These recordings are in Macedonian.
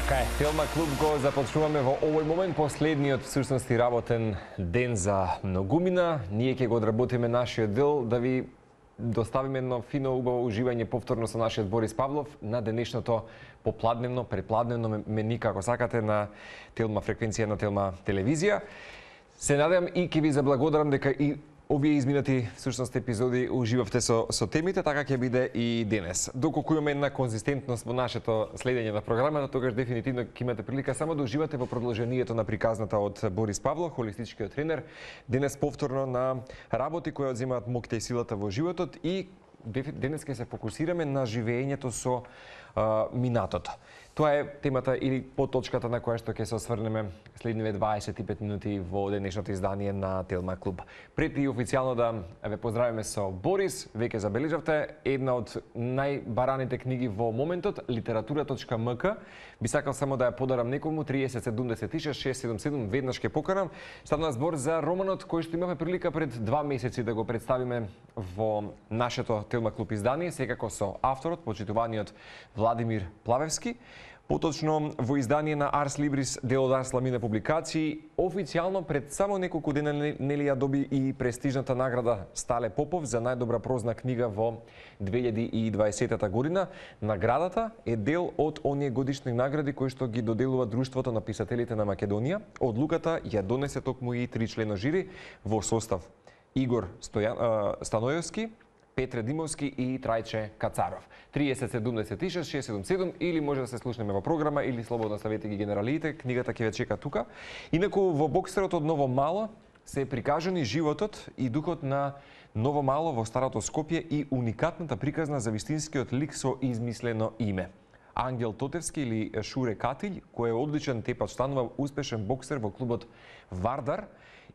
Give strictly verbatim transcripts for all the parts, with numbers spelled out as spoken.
Така е, Телма клуб го започнуваме во овој момент, последниот всушност и работен ден за многумина. Ние ќе го одработиме нашиот дел да ви доставиме едно фино, убаво уживање повторно со нашиот Борис Павлов на денешното попладневно, препладневно мени, како сакате, на Телма фреквенција на Телма телевизија. Се надевам и ќе ви заблагодарам дека и овие изминати всушност епизоди уживавте со со темите, така ќе биде и денес. Доколку имаме една конзистентност во нашето следење на програмата, тогаш дефинитивно ќе имате прилика само да уживате во продолжението на приказната од Борис Павлов, холистичкиот тренер. Денес повторно на работи кои одземаат моќта и силата во животот и денес ќе се фокусираме на живеењето со а, минатото. Тоа е темата или поточката на која што ќе се осврнеме следниве дваесет и пет минути во денешното издание на Телма клуб. Пред и официјално да ве поздравиме со Борис, веќе забележавте една од најбараните книги во моментот, литература точка ем ка. Би сакал само да ја подарам некому, триесет седумдесет и шест шест седум седум, веднаш ќе поканам. Станува збор за романот кој што имавме прилика пред два месеци да го представиме во нашето Телма клуб издание, секако со авторот, почитуваниот Владимир Плавевски. Поточно во издание на Арс Либрис, дел од Арс Ламина публикации, официјално пред само неколку дена нели ја доби и престижната награда Стале Попов за најдобра прозна книга во две илјади и дваесета година. Наградата е дел од оние годишни награди кои што ги доделува Друштвото на писателите на Македонија. Одлуката ја донесе токму и тричлено жири во состав Игор Стојан, Станојовски, Петре Димовски и Трајче Кацаров. триесет седумдесет и шест шест седум седум или може да се слушнеме во програма или слободно ставете ги генералиите, книгата ќе ве чека тука. Инаку во боксерот од Ново Мало се прикажани животот и духот на Ново Мало во старото Скопје и уникатната приказна за вистинскиот лик со измислено име. Ангел Тотевски или Шуре Катилј, кој е одличен тепач, станува успешен боксер во клубот Вардар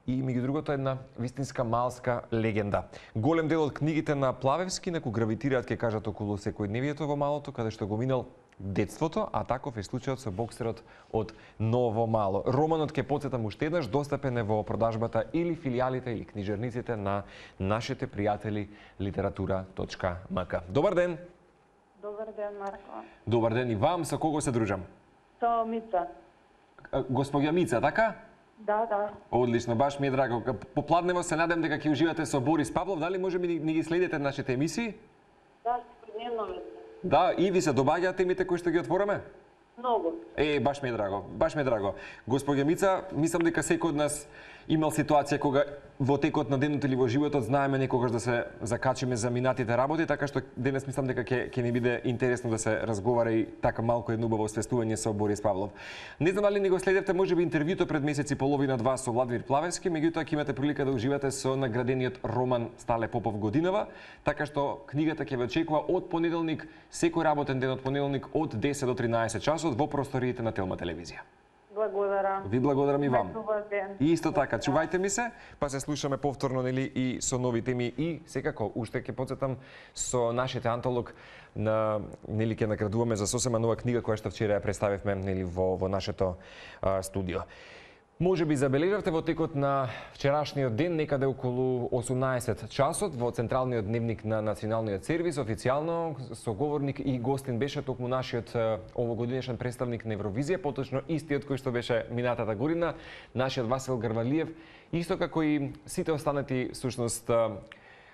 и меѓу другото една вистинска малска легенда. Голем дел од книгите на Плавевски неку гравитираат, ке кажат, околу секојдневието во малото, каде што го минал детството, а таков е случајот со боксерот од Ново Мало. Романот, ке потсетам уште еднаш, достапен е во продажбата или филијалите или книжарниците на нашите пријатели литература точка ем ка. Добар ден! Добар ден, Марко. Добар ден и вам, со кого се дружам? Со Мица. Господја Мица, така? Да, да. Одлично, баш ми е драго. Попладнево се надам дека ќе уживате со Борис Павлов. Дали може би ни ги следите нашите емисии? Да, спремно. Да, и ви се добаѓаат темите кои што ги отвораме? Многу. Е, баш ми е драго, баш ми е драго. Господја Мица, мислам дека секој од нас имал ситуација кога во текот на денот или во животот знаеме некогаш да се закачиме за минатите работи, така што денес мислам дека ќе ќе ни биде интересно да се разговара и така малку едно убаво освестување со Борис Павлов. Не знам дали ни го следевте можеби интервјуто пред месец и половина два со Владимир Плавевски, меѓутоа ќе имате прилика да уживате со наградениот роман Стале Попов годинава, така што книгата ќе ве очекува од понеделник, секој работен ден од понеделник од десет до тринаесет часот во просториите на Телма телевизија. Благодарам. Ви благодарам и вам. Добар ден. И исто така, чувајте ми се, па се слушаме повторно нели и со нови теми и секако уште ќе потсетам со нашите антолог на нели ќе наградуваме за сосема нова книга која што вчера ја представивме нели во во нашето а, студио. Може би забележавте во текот на вчерашниот ден, некаде околу осумнаесет часот, во централниот дневник на Националниот сервис, официјално соговорник и гостин беше токму нашиот овогодинешен представник на Евровизија, поточно истиот кој што беше минатата година, нашиот Васил Грвалиев, исто како и сите останати всушност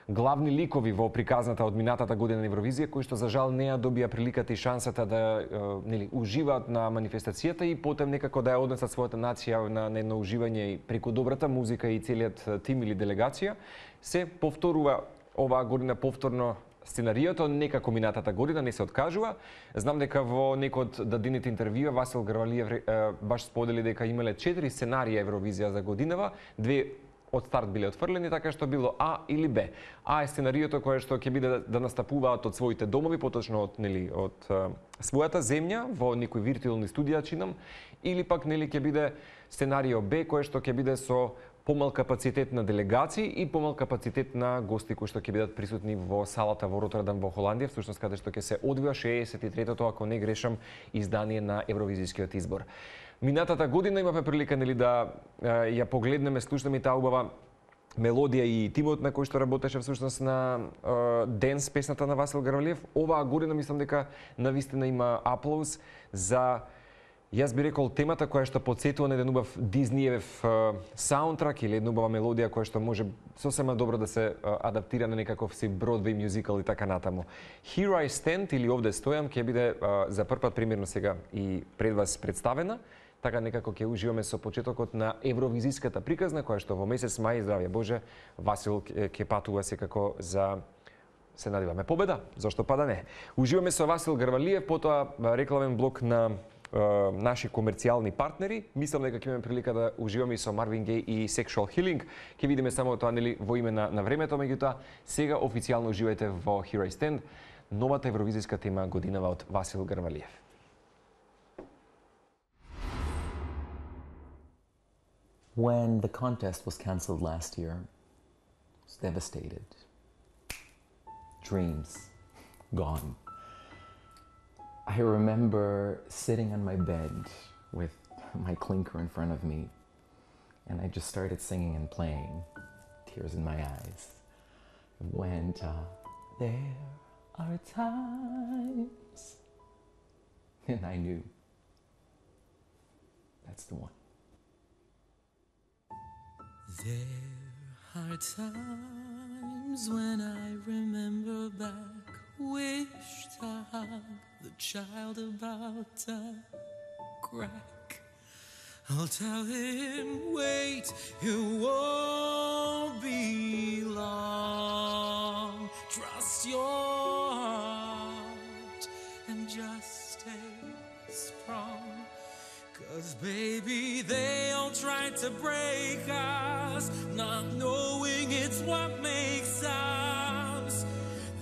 главни ликови во приказната од минатата година на Евровизија, кои што за жал не ја добија приликата и шансата да нели уживаат на манифестацијата и потем некако да ја однесат својата нација на, на едно уживање и преку добрата музика и целиот тим или делегација, се повторува оваа година повторно сценариото, некако минатата година не се откажува. Знам дека во некој од дадените интервјуа Васил Грвалиев баш сподели дека имале четири сценарија Евровизија за годинава, две од старт биле отфрлени, така што било А или Б. А е сценариото кое што ќе биде да настапуваат од своите домови, поточно од нели од а, својата земја во некои виртуелни студија чинам, или пак нели ќе биде сценарио Б кое што ќе биде со помал капацитет на делегации и помал капацитет на гости кои што ќе бидат присутни во салата во Ротердам во Холандија, всушност каде што ќе се одвива шеесет и третото, ако не грешам, издание на Евровизискиот избор. Минатата година имавме прилика нели да е, ја погледнеме, слушнеме таа убава мелодија и тимот на кој што работеше всушност на е, денс песната на Васил Грвалиев. Оваа година мислам дека навистина има аплауз за Јас би рекол темата која што потсетува на еден убав Диснеев саундтрак или една убава мелодија која што може сосема добро да се адаптира на некаков си Бродвеј мюзикал и така натаму. Here I Stand или Овде стојам ќе биде за прв пат примерно сега и пред вас представена. Така некако ќе уживаме со почетокот на евровизиската приказна која што во месец мај, здравје Боже, Васил ќе патува секако за, се надеваме, победа, зашто па да не. Уживаме со Васил Грвалиев, потоа рекламен блок на наши комерцијални партнери. Мислам дека ќе имаме прилика да уживаме и со Marvin Gaye и Sexual Healing. Ќе видиме само тоа нели во име на, на времето, меѓутоа сега официјално уживајте во Here I Stand, новата евровизиска тема годинава од Васил Грвалиев. When the contest was cancelled last year, I was devastated. Dreams gone. I remember sitting on my bed with my clinker in front of me, and I just started singing and playing, tears in my eyes. It went, uh, there are times, and I knew that's the one. There are times when I remember back, wish to hug the child about to crack. I'll tell him, wait, it won't be long. Trust your heart and just stay strong. Cause baby, they all tried to break us, not knowing it's what makes us.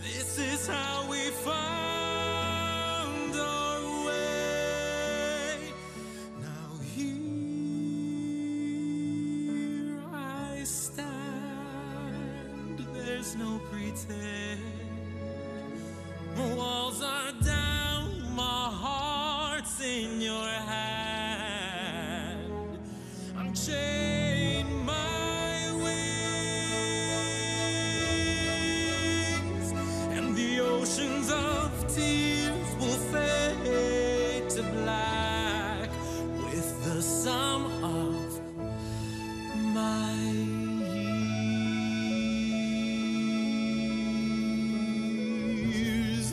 This is how we found our way. Now here I stand, there's no pretend. Walls are down, my heart's in your hand. I'm chained my wings, and the oceans of tears will fade to black with the sum of my years.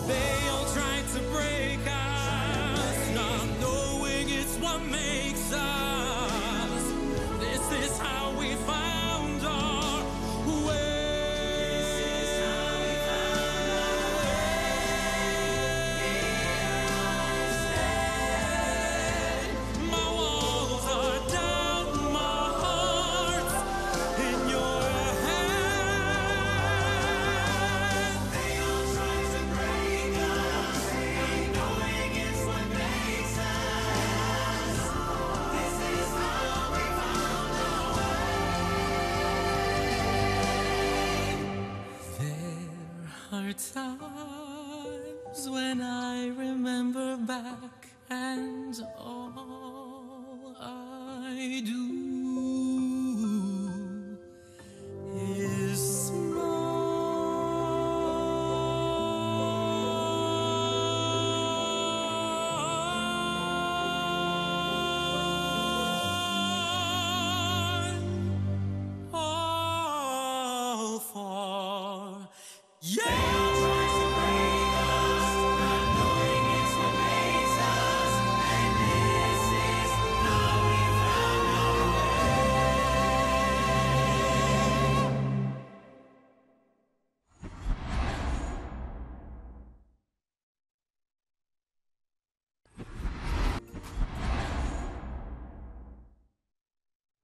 They all tried to break us, not knowing it's what makes us. This is how we found our way. This is how we found our way. My walls are down, my heart's in your hand. They all tried to break us, not knowing it's what makes us. This is how we found our way. There are times when I remember back, and all I do is smile. All for you.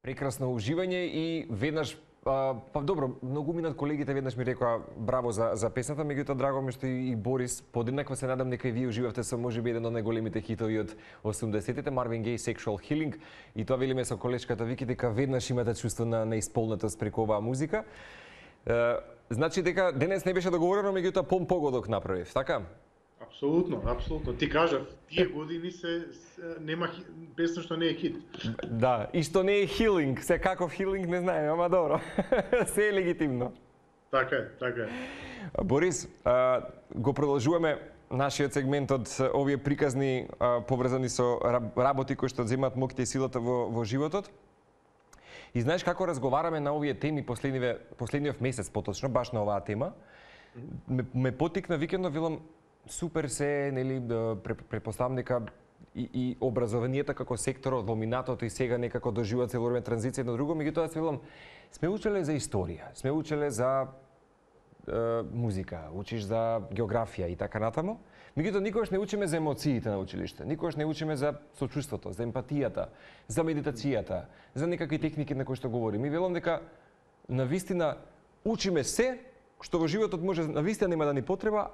Прекрасно уживање и веднаш а, па добро, многу минат колегите веднаш ми рекоа браво за за песната, меѓутоа драго ми што и, и Борис подеднакво се надам дека и вие уживавте со можеби еден од најголемите хитови од осумдесетите, Marvin Gaye Sexual Healing, и тоа велиме со колешката Вики дека веднаш имате чувство на неисполнетост преку оваа музика. Е, значи дека денес не беше договорено, меѓутоа пом погодок направив, така? Апсолутно, апсолутно. Ти кажав, тие години се, се нема хи- песна што не е хит. Да, и што не е хилинг, се каков хилинг не знаеме, ама добро. Се е легитимно. Така е, така е. Борис, а, го продолжуваме нашиот сегмент од овие приказни а, поврзани со работи кои што земаат моќта и силата во, во животот. И знаеш како разговараме на овие теми последниве, последниот месец, поточно, баш на оваа тема, ме, ме потикна викендно, велам, супер се, нели, препоставам дека и, и образованието како сектор во минатото и сега некако доживува цело време транзиција едно друго, меѓутоа се велам, сме учеле за историја, сме учеле за е, музика, учиш за географија и така натаму. Меѓутоа никогаш не учиме за емоциите на училиште, никогаш не учиме за сочувството, за емпатијата, за медитацијата, за некакви техники на кои што говорим. И велам дека навистина учиме се што во животот може навистина нема да ни потреба,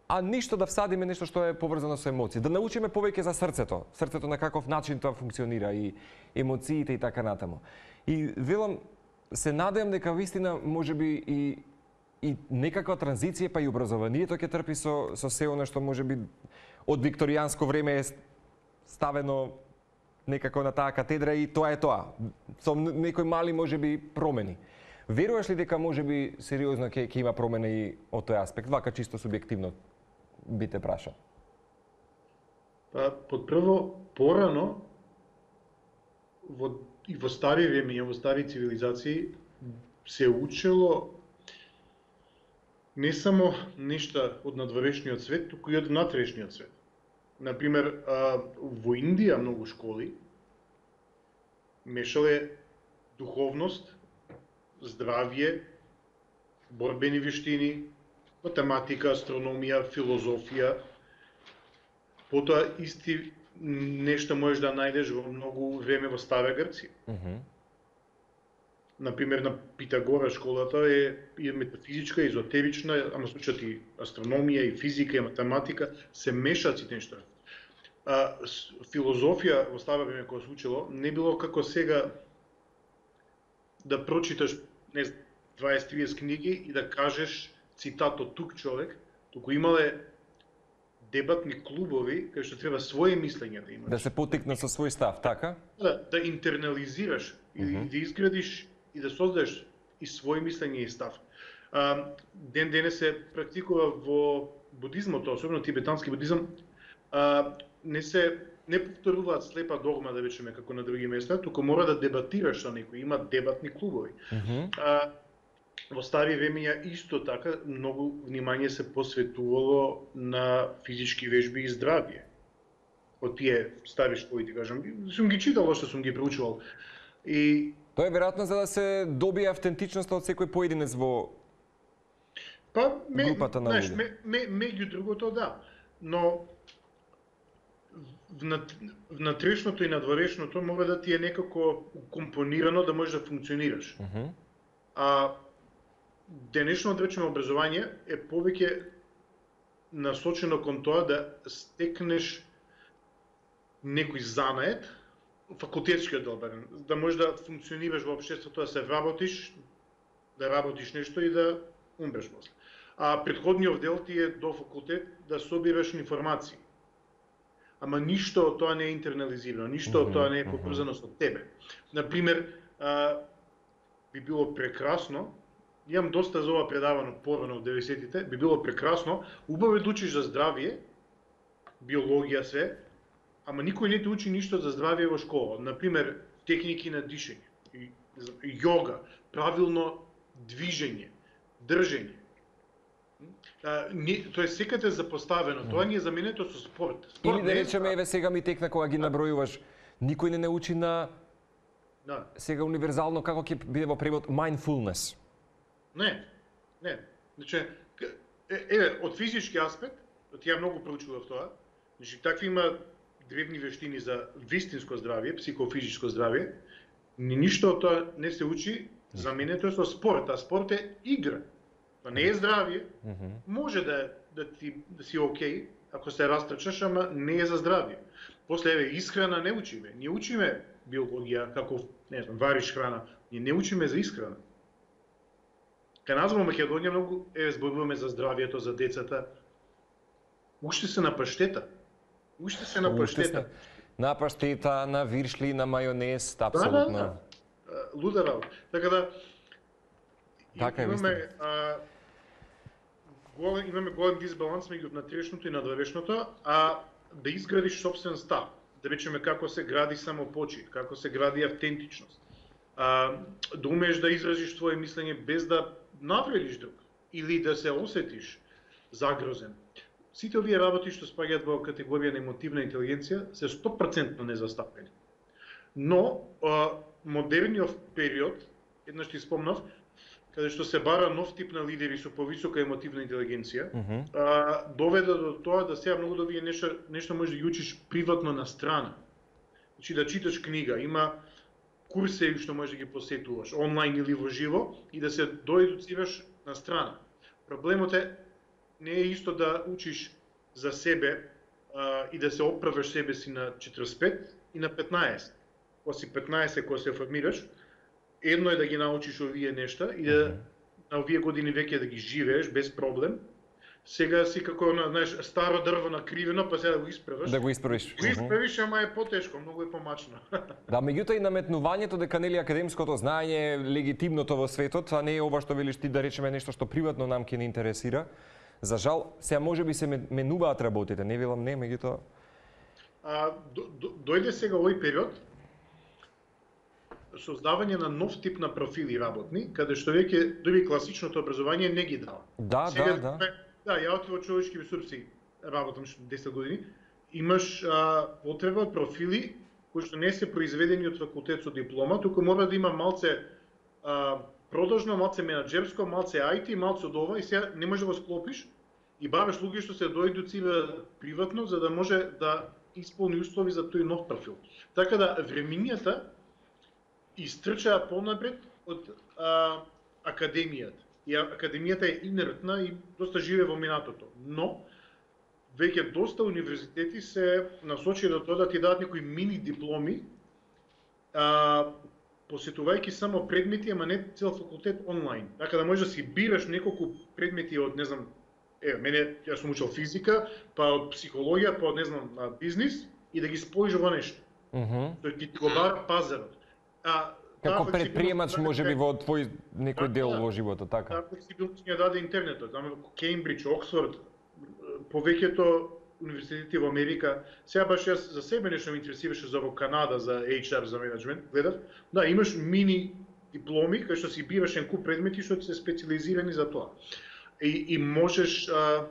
а ништо да всадиме нешто што е поврзано со емоции. Да научиме повеќе за срцето, срцето на каков начин тоа функционира и емоциите и така натаму. И велам, се надевам дека вистина можеби и и некаква транзиција, па и образованието ќе трпи со со се она што можеби од викторијанско време е ставено некако на таа катедра и тоа е тоа. Со некои мали можеби промени. Веруваш ли дека можеби сериозно ќе ќе има промена и од тој аспект, вака чисто субјективно би те прашал? Па, под прво, порано, во, и во стари времења, во стари цивилизации, се учело не само нешта од надворешниот свет, туку и од внатрешниот свет. Например, во Индија многу школи мешале духовност, здравје, борбени вештини, математика, астрономија, филозофија. Потоа исти нешто можеш да најдеш во многу време во Стара Грција. Mm -hmm. Например, на Питагора школата е и метафизичка, и езотерична, ама случат и астрономија, и физика, и математика, се мешаат сите нешта. А, филозофија во старо време кога се учело, не било како сега да прочиташ не дваесет триесет книги и да кажеш цитат од тук човек, туку имале дебатни клубови кај што треба своje мислење да имаш. Да се потикна со свој став, така? Да, да интернализираш и uh-huh. да изградиш и да создадеш и своje мислење и став. А, ден денес се практикува во будизмот, особено тибетански будизам, а, не се не повторуваат слепа догма, да речеме, како на други места, туку мора да дебатираш со некој, има дебатни клубови. Uh-huh. А, во стари времења исто така многу внимание се посветувало на физички вежби и здравје. Од тие стари школи, ти кажам, сум ги читал, што сум ги проучувал. И тоа е веројатно за да се добие автентичноста од секој поединец во па ме, групата на знаеш, луѓе. ме, ме, меѓу другото да, но внат, внатрешното и надворешното мора да ти е некако компонирано да можеш да функционираш. Uh -huh. А денешно, да речеме, образование е повеќе насочено кон тоа да стекнеш некој занает, факултетскиот дел, да можеш да функционираш во општеството, да се вработиш, да работиш нешто и да умреш после. А претходниот дел ти е до факултет да собираш информации. Ама ништо од тоа не е интернализирано, ништо од тоа не е поврзано со тебе. Например, а, би било прекрасно, имам доста за ова предавано порано од деветдесетите, би било прекрасно, убаво е да учиш за здравје, биологија се, ама никој не те учи ништо за здравје во школа. Например, техники на дишење, јога, правилно движење, држење. А, не, тоа е секаде запоставено, тоа ни е заменето со спорт. Спорт Или да речеме, еве сега ми текна кога ги набројуваш, никој не научи на Да. сега универзално како ќе биде во превод mindfulness. Не, не. Значи, еве, од физички аспект, ја многу проучував тоа, значи, такви има древни вештини за вистинско здравје, психофизичко здравје, ни ништо од тоа не се учи, заменето е со спорт, а спорт е игра. Тоа не е здравје, може да, да, ти, да си окей, ако се растрчаш, ама не е за здравје. После, еве, исхрана не учиме. Ние учиме биологија, како, не знам, вариш храна, ние не учиме за исхрана. Кај нас во Македонија многу е зборуваме за здравјето, за децата. Уште се на паштета. Уште се на паштета. На паштета, на виршли, на мајонез, апсолутно. Да, да, да. Луда работа. Така да, Така е, имаме вистина. а, голем, имаме голем дисбаланс меѓу внатрешното и надворешното, а да изградиш собствен став, да речеме како се гради самопочит, како се гради автентичност, а, да умееш да изразиш твое мислење без да навредиш друг или да се осетиш загрозен. Сите овие работи што спаѓаат во категорија на емотивна интелигенција се сто проценти незастапени. Но а, модерниот период, еднаш ти спомнав, каде што се бара нов тип на лидери со повисока емотивна интелигенција, mm -hmm. а, доведе до тоа да сега многу да вие нешто, нешто можеш да ги учиш приватно на страна. Значи да читаш книга, има курсеви што можеш да ги посетуваш, онлайн или во живо, и да се доедуцираш на страна. Проблемот е, не е исто да учиш за себе а, и да се оправаш себе си на четириесет и пет и на петнаесет. Кога си петнаесет, кога се формираш, едно е да ги научиш овие нешта и да на овие години веќе да ги живееш без проблем. Сега си како на, знаеш, старо дрво накривено, па сега да го исправиш. Да го исправиш. Го исправиш, ама е потешко, многу е помачно. Да, меѓутоа и наметнувањето дека нели академското знаење е легитимното во светот, а не е ова што велиш ти, да речеме нешто што приватно нам ќе не интересира. За жал, сега може би се менуваат работите, не велам не, меѓутоа. А до, до, дојде сега овој период создавање на нов тип на профили работни, каде што веќе дури класичното образование не ги дава. Да, сега, да, да. Да, ја во човечки ресурси работам десет години. Имаш а, потреба од профили кои што не се произведени од факултет со диплома, туку мора да има малце а, продажно, малце менаџерско, малце ај ти, малце од ова, и сега не може да го склопиш и бараш луѓе што се доедуцира приватно за да може да исполни услови за тој нов профил. Така да времињата истрчаа понапред од а, академијата. И академијата е инертна и доста живе во минатото. Но веќе доста универзитети се насочи до тоа да ти дадат некои мини дипломи, а, посетувајќи само предмети, ама не цел факултет онлайн. Така да можеш да си бираш неколку предмети од, не знам, е, мене, јас сум учел физика, па од психологија, па од, не знам, бизнис, и да ги споиш во нешто. Mm -hmm. Тој ти го бара пазарот. А, како предприемач може би во твој некој дел да, во животот, така? Така флексибилност ја даде интернетот. Таму Кембридж, Оксфорд, повеќето универзитети во Америка. Сега баш јас за себе нешто ме интересираше за во Канада, за еич ар, за менеджмент, гледав. Да, имаш мини дипломи кај што си бираш еден куп предмети што се специализирани за тоа. И, и можеш а,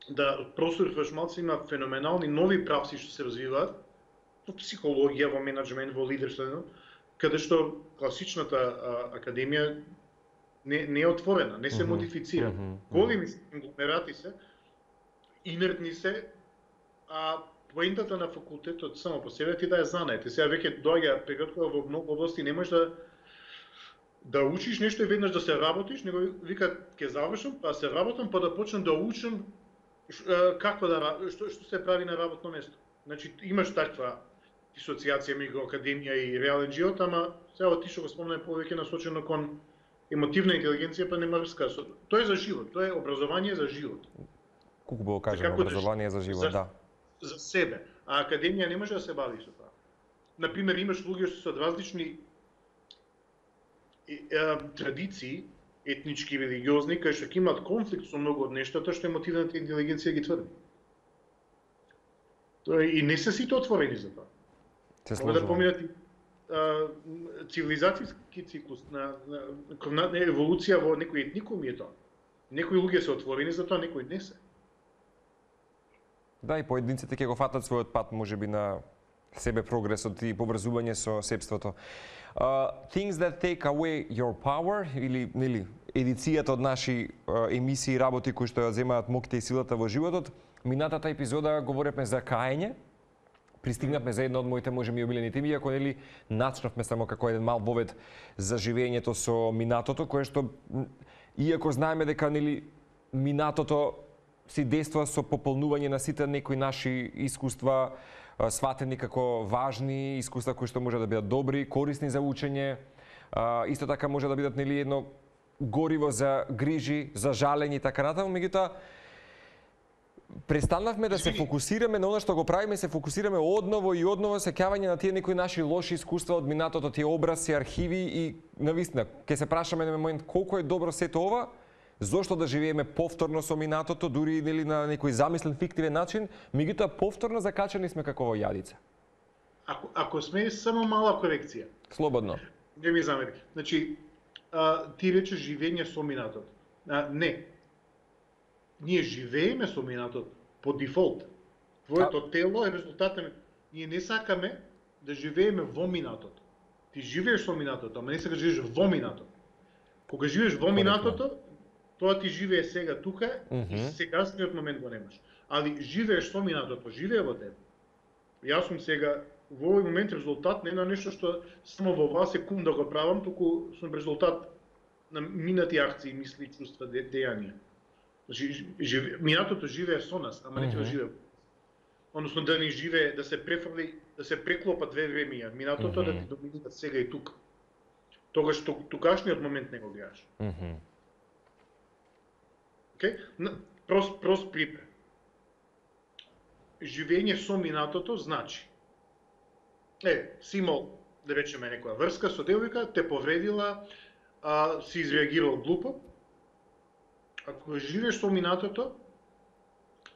да просурфаш малце, има феноменални нови правци што се развиваат во психологија, во менеджмент, во лидерство, каде што класичната а, академија не, не е отворена, не се mm -hmm. модифицира. Mm -hmm. Големи конгломерати се, инертни се, а поентата на факултетот само по себе ти да ја знаете. Сега веќе доаѓа период кога во многу области не можеш да да учиш нешто и веднаш да се работиш, него вика ќе завршам, па се работам, па да почнам да учам како да што што се прави на работно место. Значи имаш таква дисоциација меѓу академија и реален живот, ама сега ти што го спомнаме повеќе насочено кон емотивна интелигенција, па нема врска. Тоа е за живот, тоа е образование за живот. Колку било кажано, образование за живот, за, да. За себе. А академија не може да се бави со тоа. Например, имаш луѓе што се од различни е, е, традиции, етнички, религиозни, кај што ќе имаат конфликт со многу од нештата што емотивната интелигенција ги тврди. Тоа и не се сите отворени за тоа. Се Мога да поминат цивилизацијски циклус на, на, на, на еволуција во некои етникуми е тоа. Некои луѓе се отворени за тоа, некои не се. Да, и поединците ќе го фатат својот пат, можеби на себе прогресот и поврзување со себството. Uh, things that take away your power, или нели едицијата од наши uh, емисии и работи кои што ја земаат моќта и силата во животот. Минатата епизода говоревме за каење. Пристигнавме за една од моите можеби омилени теми, иако нели начнавме само како еден мал вовед за живењето со минатото, кое што иако знаеме дека нели минатото си дејства со пополнување на сите некои наши искуства, сватени како важни, искуства кои што може да бидат добри, корисни за учење, исто така може да бидат нели едно гориво за грижи, за жалење и така натаму, меѓутоа престанавме да се фокусираме на она што го правиме, се фокусираме одново и одново сеќавање на тие некои наши лоши искуства од минатото, тие образци, архиви и навистина ќе се прашаме на момент колку е добро сето ова, зошто да живееме повторно со минатото, дури нели на некој замислен фиктивен начин, меѓутоа повторно закачани сме како во јадица. Ако ако сме само мала корекција. Слободно. Не ми замерки. Значи, а, ти речеш живење со минатото. А, не. Ние живееме со минатото по дефолт. Твоето а... тело е резултат на... Ние не сакаме да живееме во минатото. Ти живееш со минатото, ама не сакаш да живееш во минатото. Кога живееш во минатото, тоа ти живее сега тука mm -hmm. и сегашниот момент го немаш. Али живееш со минатото, живее во тебе. Јас сум сега во овој момент резултат не на нешто што само во оваа секунда го правам, туку сум резултат на минати акции, мисли, чувства, де, дејанија. Значи, живе, минатото живее со нас, ама не ќе mm -hmm. живее. Односно да ни живее, да се префрли, да се преклопа две времења. Минатото mm -hmm. да ти доминира сега и тука. Тогаш тугашниот момент не го гледаш. Mm -hmm. Okay? Прост, прост пример. Живење со минатото значи е, си имал, да речеме, некоја врска со девојка, те повредила, а, си изреагирал глупо. Ако живееш со минатото,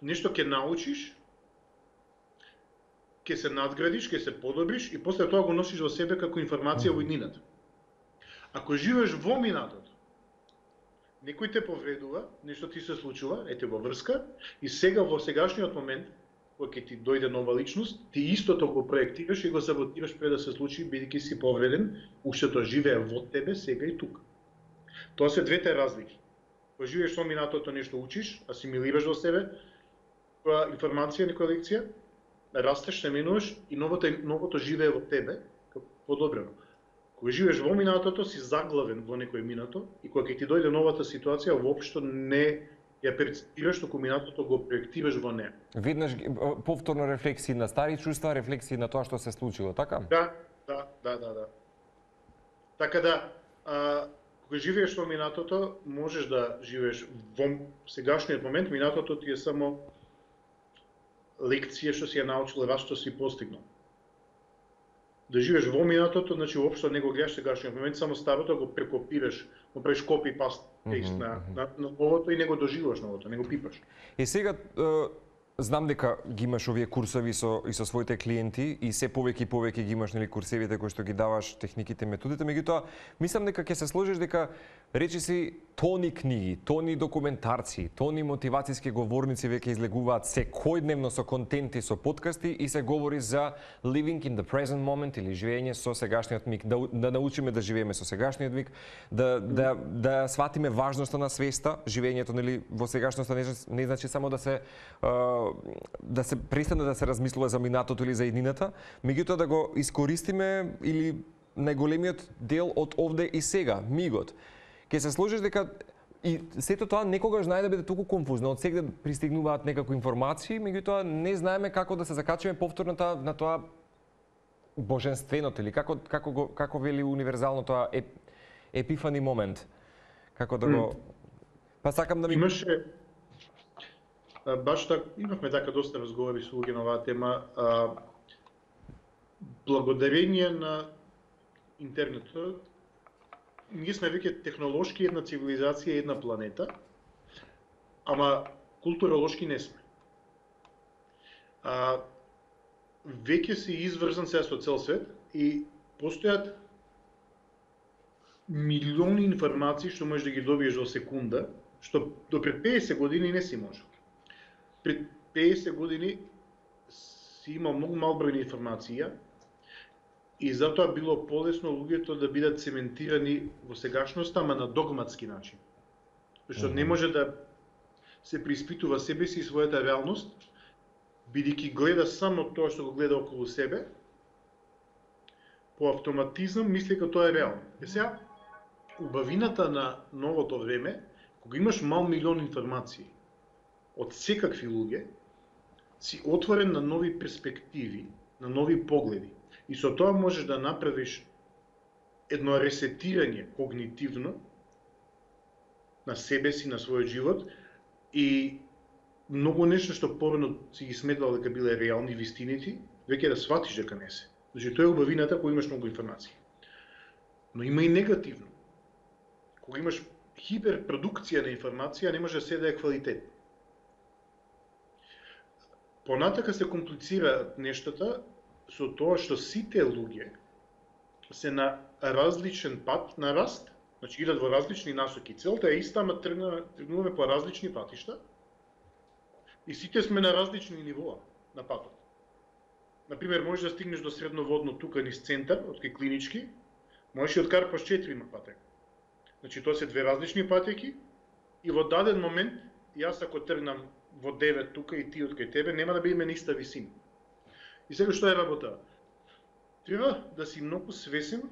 нешто ќе научиш, ќе се надградиш, ќе се подобриш и после тоа го носиш во себе како информација во иднината. Ако живееш во минатото, некој те повредува, нешто ти се случува, ете во врска, и сега во сегашниот момент, кога ќе ти дојде нова личност, ти истото го проектираш и го саботираш пред да се случи, бидејќи си повреден, уште тоа живее во тебе сега и тука. Тоа се двете разлики. Кога живееш со минатото, нешто учиш, асимилираш во себе, која информација, некоја лекција, растеш, се менуваш и новото, новото живее во тебе, како подобрено. Кога живееш во минатото, си заглавен во некој минато и кога ќе ти дојде новата ситуација, воопшто не ја перцепираш, току минатото го проектираш во неа. Виднаш повторно рефлексии на стари чувства, рефлексии на тоа што се случило, така? Да, да, да, да, да. Така да, а, кога живееш во минатото, можеш да живееш во сегашниот момент, минатото ти е само лекција што си ја научил, раз што си постигнал. Да живееш во минатото, значи уопшто не го гледаш сегашниот момент, само старото го прекопираш, го правиш копи паст mm -hmm. на, на, на новото и не го доживуваш новото, не го пипаш. И сега знам дека ги имаш овие курсови со и со своите клиенти и се повеќе и повеќе ги имаш нели курсевите кои што ги даваш, техниките, методите, меѓутоа мислам дека ќе се сложиш дека речи си тони книги, тони документарци, тони мотивацијски говорници веќе излегуваат секојдневно со контенти, со подкасти и се говори за living in the present moment или живење со сегашниот миг, да, да научиме да живееме со сегашниот миг, да да да сватиме важноста на свеста, живењето нели во сегашноста не, не значи само да се да се престане да се размислува за минатото или за иднината, меѓутоа да го искористиме или најголемиот дел од овде и сега, мигот. Ке се сложиш дека и сето тоа некогаш знае да биде толку конфузно, од сегде пристигнуваат некакви информации, меѓутоа не знаеме како да се закачиме повторно на тоа боженственото или како како го како вели универзално тоа еп, епифани момент. Како да го Па сакам да ми имаше баш така имавме така доста разговори со луѓе на оваа тема, а, благодарение на интернетот ние сме веќе технолошки една цивилизација, една планета, ама културолошки не сме. А, веќе се изврзан се со цел свет и постојат милиони информации што можеш да ги добиеш во секунда, што до пред педесет години не си можел. Пред педесет години си имал многу мал број информација и затоа било полесно луѓето да бидат цементирани во сегашноста, ама на догматски начин. Зашто mm -hmm. не може да се преиспитува себе си и својата реалност, бидејќи гледа само тоа што го гледа околу себе, по автоматизам мисли дека тоа е реално. Е сега, убавината на новото време, кога имаш мал милион информации од секакви луѓе, си отворен на нови перспективи, на нови погледи. И со тоа можеш да направиш едно ресетирање когнитивно на себе си, на својот живот и многу нешто што порано си ги сметал дека биле реални вистините, веќе да сватиш дека не се. Значи тоа е убавината кога имаш многу информации. Но има и негативно. Кога имаш хиперпродукција на информација, не може да се да е квалитет. Понатака се комплицираат нештата со тоа што сите луѓе се на различен пат на раст, значи идат во различни насоки. Целта е иста, ама тргнуваме по различни патишта и сите сме на различни нивоа на патот. Например, можеш да стигнеш до средноводно тука низ центар, од кај клинички, можеш и откарпаш четири патека. Значи тоа се две различни патеки и во даден момент, јас ако тргнам во девет тука и ти од кај тебе, нема да бидеме на иста висина. И сега што е работа? Треба да си многу свесен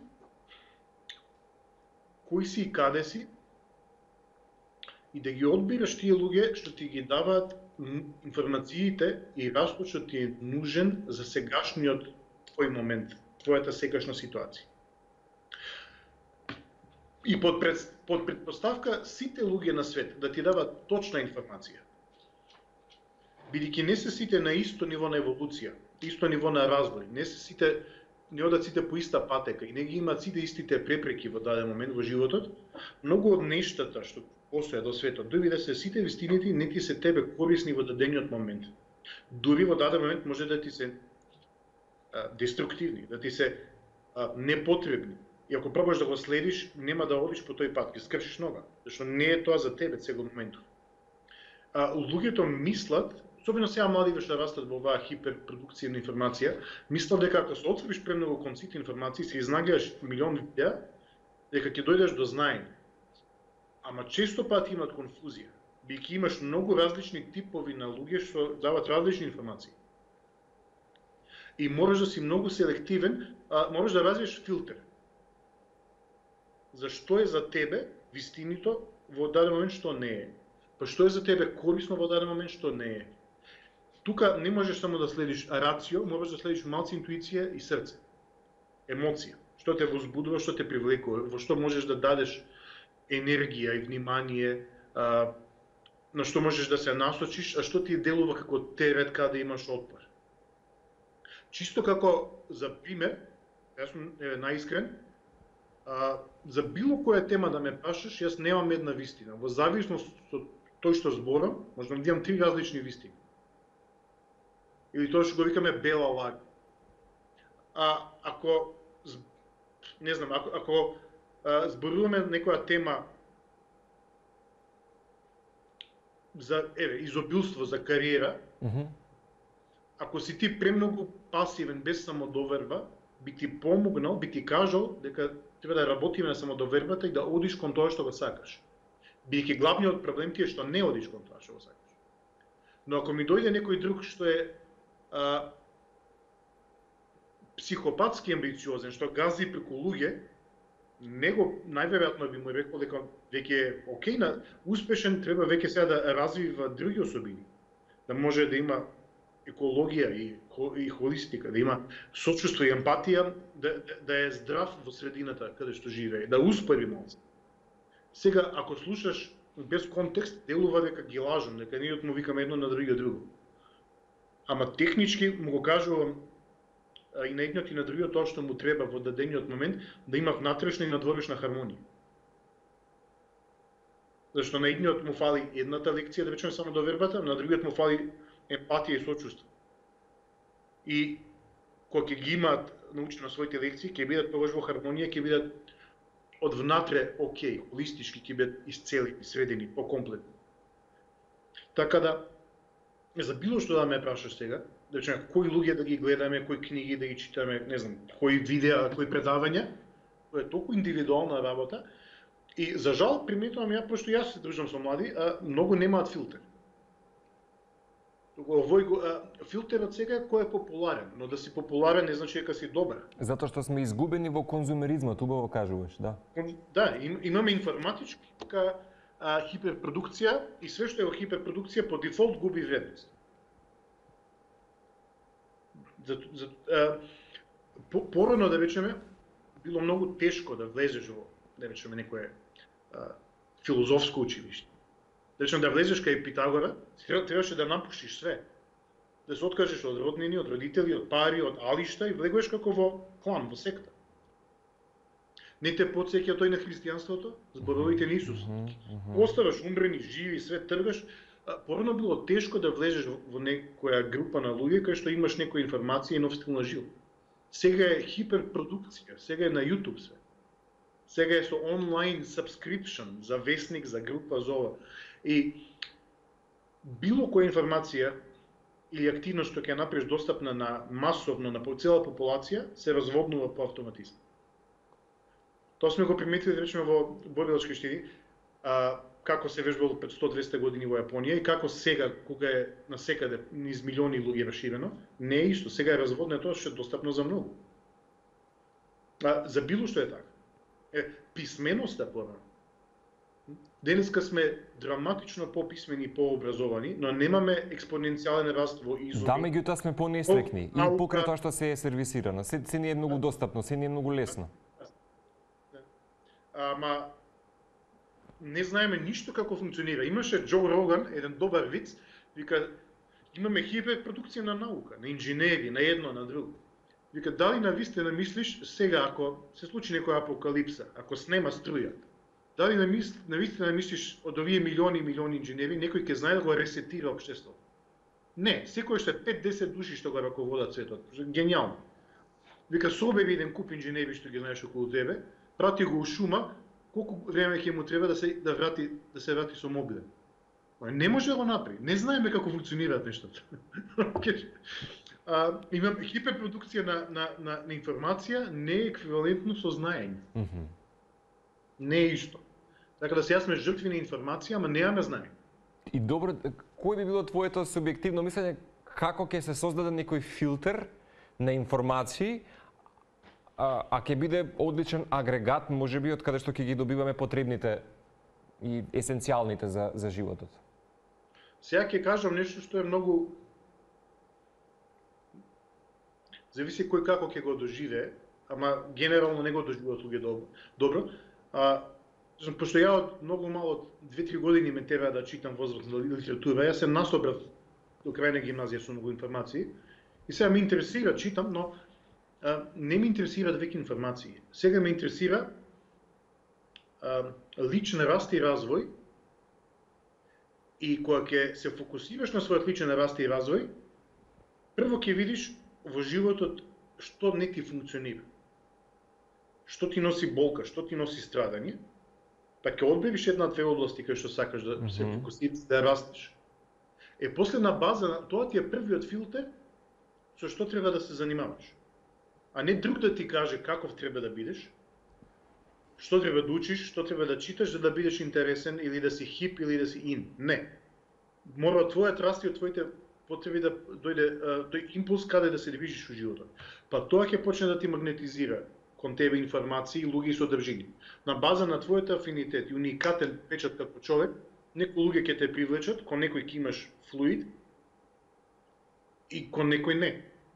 кои си и каде си и да ги одбираш тие луѓе што ти ги даваат информациите и растот што ти е нужен за сегашниот твој момент, твојата сегашна ситуација. И под, пред, под предпоставка сите луѓе на свет да ти дават точна информација. Бидејќи не се сите на исто ниво на еволуција, исто ниво на развој, не се сите не одат сите по иста патека и не ги имаат сите истите препреки во даден момент во животот, многу од нештата што постојат до светот, дури да се сите вистините, не ти се тебе корисни во дадениот момент. Дури во даден момент може да ти се а, деструктивни, да ти се а, непотребни. И ако пробаш да го следиш, нема да одиш по тој пат, ќе скршиш нога, зашто не е тоа за тебе сега моментов. А, луѓето мислат, особено сега млади што растат во оваа хиперпродукција на информација, мислат дека ако се отвориш премногу кон сите информации, се изнаѓаш милион видеа, дека ќе дојдеш до знаење. Ама често пати имат конфузија, бидејќи имаш многу различни типови на луѓе што дават различни информации. И мораш да си многу селективен, а мораш да развиеш филтер. Зашто е за тебе вистинито во даден момент што не е? Па што е за тебе корисно во даден момент што не е? Тука не можеш само да следиш рацио, можеш да следиш малку интуиција и срце. Емоција. Што те возбудува, што те привлекува, во што можеш да дадеш енергија и внимание, а, на што можеш да се насочиш, а што ти делува како терет каде имаш отпор. Чисто како за пример, јас сум е, наискрен, а, за било која тема да ме прашаш, јас немам една вистина. Во зависност од тој што зборам, можам да имам три различни вистини. Или тоа што го викаме бела лага. А ако не знам, ако, ако а, зборуваме некоја тема за еве изобилство, за кариера, Mm-hmm. ако си ти премногу пасивен без самодоверба, би ти помогнал, би ти кажал дека треба да работиме на самодовербата и да одиш кон тоа што го сакаш. Бидејќи главниот проблем ти е што не одиш кон тоа што го сакаш. Но ако ми дојде некој друг што е а, психопатски амбициозен, што гази преку луѓе, него најверојатно би му рекол дека веќе е окей, на успешен, треба веќе сега да развива други особини. Да може да има екологија и, и холистика, да има сочувство и емпатија, да, да е здрав во средината каде што живее, да успори малку. Сега, ако слушаш без контекст, делува дека ги лажам, дека ние му викаме едно на другиот друго. Ама технички му го кажувам и на едниот и на другиот тоа што му треба во дадениот момент да има внатрешна и надворешна хармонија. Зашто на едниот му фали едната лекција, да речеме само довербата, на другиот му фали емпатија и сочувство. И кога ќе ги имаат научено своите лекции, ќе бидат тогаш во хармонија, ќе бидат од внатре окей, холистички ќе бидат исцелени, средени, покомплетни. Така да, за било што да ме прашаш сега, да речеме, кои луѓе да ги гледаме, кои книги да ги читаме, не знам, кои видеа, кои предавања, тоа е толку индивидуална работа. И за жал приметувам ја, пошто јас се дружам со млади, а многу немаат филтер. Овој филтерот сега е кој е популарен, но да си популарен не значи дека си добар. Затоа што сме изгубени во конзумеризмот, убаво кажуваш, да. Да, им, имаме информатичка а, хиперпродукција и све што е во хиперпродукција по дефолт губи вредност. За, за, а, по, порано, да речеме, било многу тешко да влезеш во, да речеме, некое а, филозофско училиште. Речем да влезеш кај Питагора, требаше да напушиш све. Да се откажеш од роднини, од родители, од пари, од алишта и влегуваш како во клан, во секта. Не те потсеќа тој на христијанството, зборовите на Исус. Оставаш умрени, живи, све тргаш. Порано било тешко да влезеш во некоја група на луѓе кај што имаш некоја информација и нов стил на живот. Сега е хиперпродукција, сега е на YouTube све. Сега е со онлайн subscription за весник, за група, за ова. И било која информација или активност што ќе направиш достапна на масовно на цела популација се разводнува по автоматизм. Тоа сме го приметили речеме во борилачки штини, а, како се вежбало пред сто до двесте години во Јапонија и како сега кога е насекаде низ милиони луѓе расширено, не е исто. Сега е разводнено тоа што е достапно за многу. А, за било што е така. Е, писменоста порано. Денеска сме драматично пописмени и пообразовани, но немаме експоненцијален раст во изуми. Да, меѓутоа сме понесреќни и покрај тоа што се е сервисирано. Се, се не е многу достапно, се не е многу лесно. Ама не знаеме ништо како функционира. Имаше Џо Роган, еден добар виц, вика имаме хиперпродукција на наука, на инженери, на едно, на друго. Вика дали навистина мислиш сега ако се случи некоја апокалипса, ако снема струја, дали навистина мислиш од овие милиони и милиони инженери некој ќе знае да го ресетира општеството? Не, секој што е пет до десет души што го раководат светот. Гениално. Вика собери еден куп инженери што ги знаеш околу тебе, прати го у шума, колку време ќе му треба да се да врати да се врати со мобилен. Не може да го направи. Не знаеме како функционираат нештата. А, имам хиперпродукција на, на, на, на информација не е еквивалентно со знаење. Mm -hmm. Не е исто. Така да сега сме жртви на информација, ама немаме знаење. И добро, кој би било твоето субјективно мислење како ќе се создаде некој филтер на информации, а, а ќе биде одличен агрегат, можеби, од каде што ќе ги добиваме потребните и есенцијалните за, за животот? Сега ќе кажам нешто што е многу... Зависи кој како ќе го доживее, ама генерално не го доживуваат луѓе добро. добро. А, пошто ја од многу мало, од две-три години ме тера да читам возрастна литература, јас се насобрав до крај на гимназија со многу информации, и сега ме интересира, читам, но а, не ме интересираат веќе информации. Сега ме интересира а, личен раст и развој, и кога ќе се фокусираш на својот личен раст и развој, прво ќе видиш во животот што не ти функционира. Што ти носи болка, што ти носи страдање, па ќе одбериш една-две области кај што сакаш да mm -hmm. се фокусираш, да растеш. Е, после на база на тоа ти е првиот филтер со што треба да се занимаваш. А не друг да ти каже каков треба да бидеш, што треба да учиш, што треба да читаш за да бидеш интересен или да си хип или да си ин. Не. Мора твојот раст и од твоите потреби да дојде тој импулс каде да се движиш во животот. Па тоа ќе почне да ти магнетизира кон тебе информации, луѓе и содржини. На база на твојот афинитет и уникатен печат како човек, некои луѓе ќе те привлечат, кон некој ќе имаш флуид и кон некој не.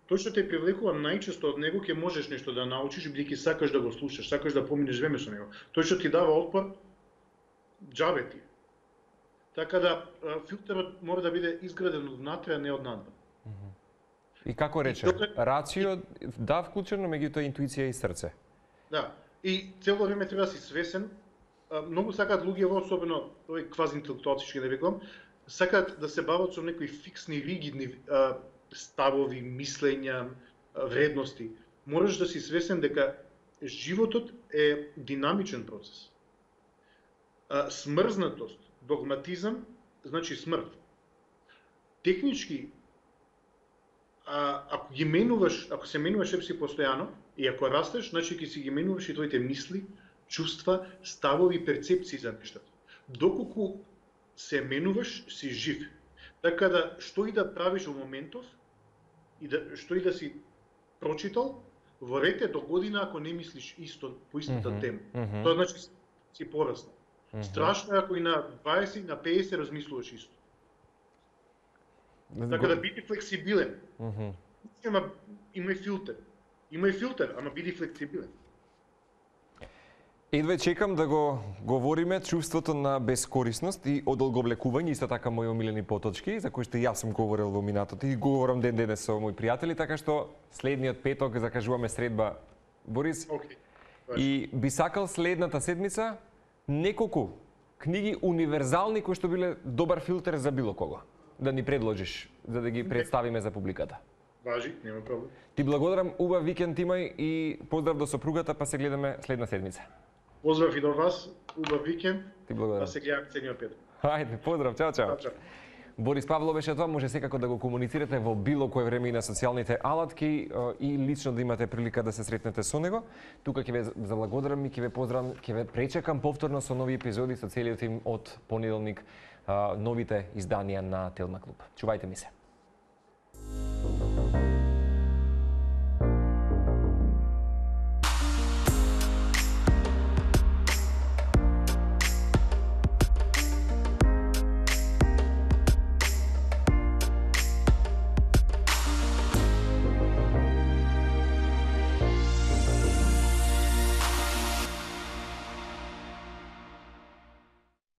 Тој што те привлекува најчесто од него ќе можеш нешто да научиш бидејќи сакаш да го слушаш, сакаш да поминеш време со него. Тој што ти дава отпор, џабе ти. Така да филтерот мора да биде изграден од внатре, а не од надвор. И како рече, рацио да вклучено, меѓутоа интуиција и срце. Да, и цело време треба да си свесен. Многу сакаат луѓе, особено овој квазиинтелектуалци што ги нарекувам, сакаат да се бават со некои фиксни, ригидни ставови, мислења, вредности. Мораш да си свесен дека животот е динамичен процес. Смрзнатост, догматизам, значи смрт. Технички, а, ако ги менуваш, ако се менуваш себе си постојано и ако растеш, значи ќе си ги менуваш и твоите мисли, чувства, ставови, перцепции за нештата. Доколку се менуваш, си жив. Така да, што и да правиш во моментов, и да, што и да си прочитал, во рете до година ако не мислиш исто по истата mm -hmm, тема. Mm -hmm. Тоа значи си пораснал. Mm -hmm. Страшно е ако и на дваесет, на педесет размислуваш исто. Така да биди флексибилен. Mm -hmm. Има, има и филтер. Има и филтер, ама биди флексибилен. Едва чекам да го говориме чувството на безкорисност и одолговлекување, исто така мои омилени поточки, за кои што и јас сум говорил во минатото и говорам ден денес со мои пријатели, така што следниот петок закажуваме средба, Борис. Океј. И би сакал следната седмица неколку книги универзални кои што биле добар филтер за било кого. Да ни предложиш, за да ги представиме за публиката. Важи, нема проблем. Ти благодарам, убав викенд имај и поздрав до сопругата, па се гледаме следна седмица. Поздрав и до вас, убав викенд, Ти благодарам. па се гледаме цениот петок. Хајде, поздрав, чао, чао. Чао, чао. Борис Павлов беше тоа, може секако да го комуницирате во било кое време и на социјалните алатки и лично да имате прилика да се сретнете со него. Тука ќе ве заблагодарам и ќе ве поздравам, ќе ве пречекам повторно со нови епизоди со целиот им од понеделник, новите изданија на Телма Клуб. Чувајте ми се.